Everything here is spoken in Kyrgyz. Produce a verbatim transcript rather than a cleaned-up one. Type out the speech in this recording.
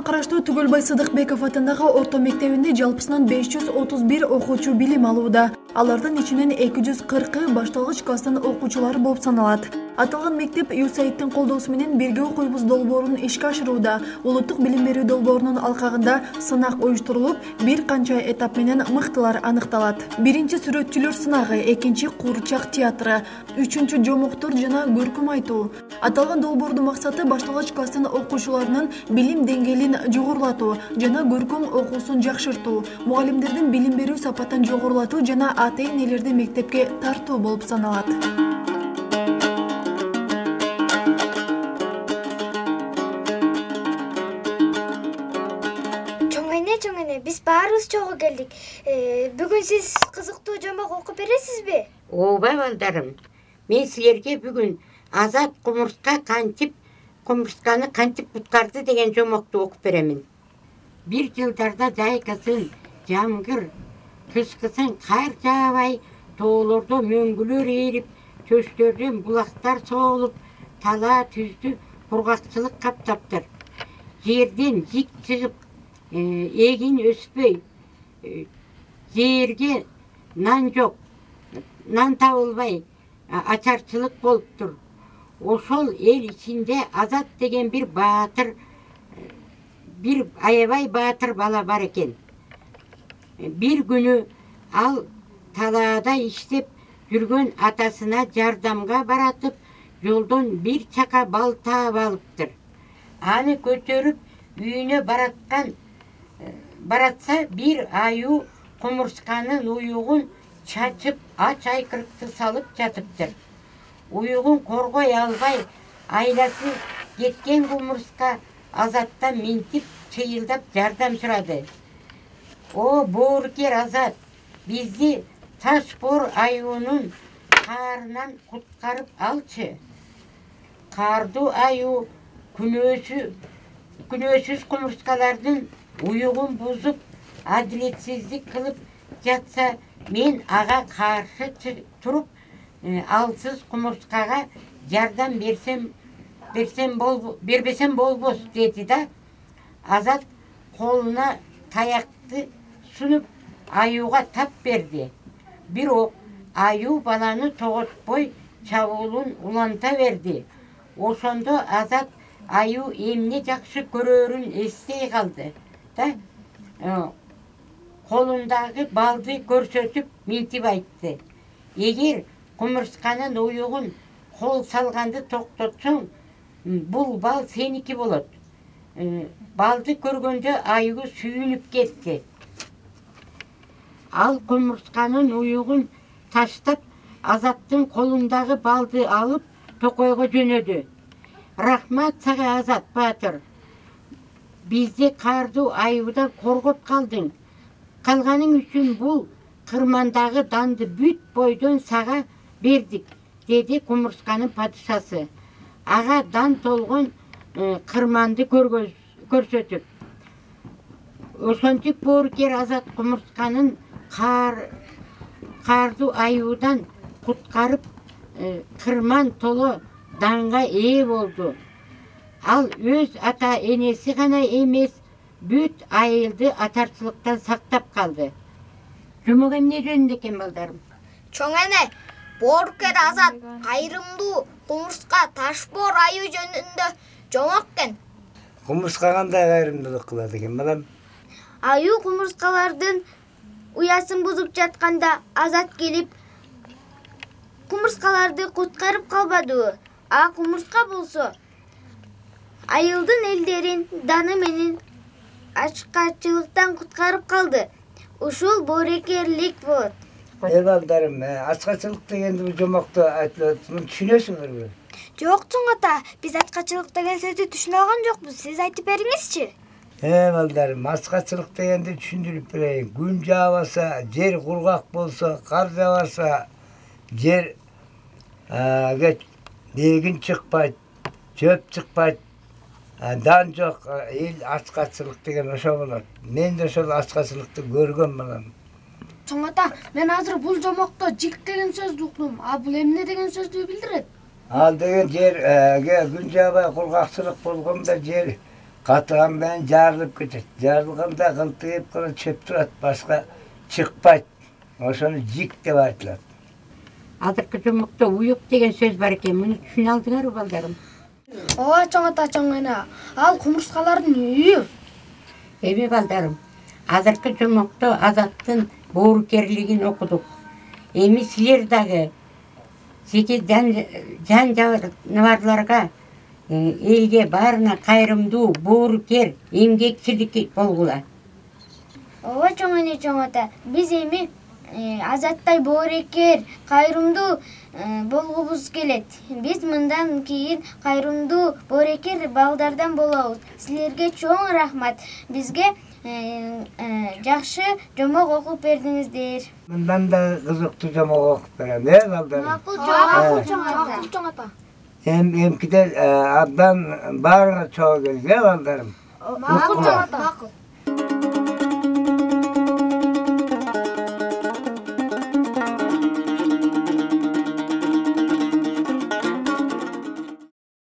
районуна караштуу Түгөлбай Сыдыкбеков атындагы орто мектебинде жалпысынан беш жүз отуз бир окуучу билим алууда. Алардын ичинен эки жүз кыркы башталгыч класстын окуучулары болуп саналат. Аталган мектеп ЮСАИДтин колдоосу менен бирге окуйбуз долбоорун ишке ашырууда. Улуттук билим берүү долбоорунун алкагында сынак уюштурулуп, бир канча этап менен мыктылар аныкталат. Биринчи сүрөтчүлөр сынагы, экинчи куурчак театры, үчүнчү жомоктор жана көркөм айтуу. Аталган долбоордун максаты башталгыч класстын окуучуларынын билим деңгээлин жогорулатуу жана көркөм окуусун жакшыртуу, мугалимдердин билим берүү сапатын жогорулатуу жана ата-энелерди мектепке тартуу болуп саналат. Чоң эне, биз баарыбыз чогуу келдик. Бүгүн сиз кызыктуу жомок окуп бересизби? Ооба балдарым. Мен силерге бүгүн Азат кумурска кантип кумурсканы кантип куткарды деген жомокту окуп беремин. Бир жылдарда жайкасын жамгыр, кышкысын кар жаабай, тоолордо мөңгүлөр ээрип, чөчтөрдөн булактар соолуп, тала түздү кургакчылык каптаптыр. Жерден жик чыгып, эгин өспөй, жерге нан жок, нан табылбай, ачарчылык болуптур. Ошол эл ичинде Азат деген бир баатыр, бир аябай баатыр бала бар экен. Бир күнү ал талаада иштеп жүргөн атасына жардамга баратып, жолдон бир чака бал таап алыптыр. Аны көтөрүп үйүнө бараткан баратса, бир аюу кумурсканын уюгун чачып, ач айкырыкты салып жатыптыр. Уюгун коргой албай, айласы кеткен кумурска Азаттан минтип, чыйылдап жардам сурады. О, боорукер Азат, бизди Ташбор аюунун каарынан куткарып алчы. Каардуу аюу күнөөсү күнөөсүз кумурскалардын уюгун бузуп, адилетсиздик кылып жатса, мен ага каршы туруп, алсыз кумурскага жардам берсем берсем бол бербесем болбос деди да. Азат колуна таякты сунуп аюуга тап берди. Бирок аюу баланы тоготпой чабуулун уланта берди. Ошондо Азат аюу эмне жакшы көрөрүн эстей калды да. Колундагы балды көрсөтүп минтип айтты. Эгер кумурсканын уюгун кол салганды токтотсоң, бул бал сеники болот. Балды көргөндө аюу сүйүнүп кетти. Ал кумурсканын уюгун таштап, Азаттын колундагы балды алып, токойго жөнөдү. Рахмат сага, Азат баатыр. Бизди каардуу аюудан коргоп калдың. Калганың үчүн бул кырмандагы данды бүт бойдон сага бердик, деди кумурсканын падышасы. Ага дан толгон кырманды көрсөтүп. Ошентип боорукер Азат кумурсканын каардуу аюудан куткарып, кырман толо данга ээ болду. Ал өз ата энеси гана эмес, бүт айылды атарчылыктан сактап калды. Жомок эмне жөнүндө экен балдарым? Чоң эне, боорукер Азат кайрымдуу кумурска Ташбор аюу жөнүндө жомок экен. Кумурска кандай кайрымдуулук кылат экен балам? Аюу кумурскалардын уясын бузуп жатканда Азат келип, кумурскаларды куткарып калбадыбы? А кумурска болсо айылдын элдерин даны менен ачкачылыктан куткарып калды. Ушул боорукерлик болот. Э балдарым, ачкачылык дегенди бул жомокту айтып атсам түшүнөсүңөрбү? Жок, чоң ата, биз ачкачылык деген сөздү түшүнө алган жокпуз. Сиз айтып бериңизчи. Э балдарым, ачкачылык дегенди түшүндүрүп берейин. Күн жаабаса, жер кургак болсо, кар жаабаса, жер эгин чыкпайт, чөп чыкпайт, дан жок, эл ачкачылык деген ошо болот. Мен да ошол ачкачылыкты көргөм балам. Чоң ата, мен азыр бул жомокто жик деген сөздү уктум. А бул эмне деген сөздү билдирет? Ал деген жерге күн жаабай кургакчылык болгондо жер катыган менен жарылып кетет. Жарылганда кылтыйып гана чөп турат, башка чыкпайт. Ошону жик деп айтылат. Азыркы жомокто уюк деген сөз бар экен. Муну түшүнө алдыңарбы балдарым? Ооба чоң ата, чоң эне. Ал кумурскалардын үйү. Эми балдарым, азыркы жомокто Азаттын боорукерлигин окудук. Эми силер дагы жеке жан жаныбарларга, элге баарына кайрымдуу, боорукер, эмгекчил болгула. Ооба чоң эне, чоң ата. Биз эми Азаттай боорукер, кайрымдуу болгубуз келет. Биз мындан кийин кайрымдуу, боорукер балдардан болобуз. Силерге чоң рахмат. Бизге жакшы жомок окуп бердиңиздер. Мындан да кызыктуу жомок окуп берем, э балдарым? Макул чоң ата. Эм эмкиде абдан баарыңар чогуу келди, э балдарым? Макул чоң ата.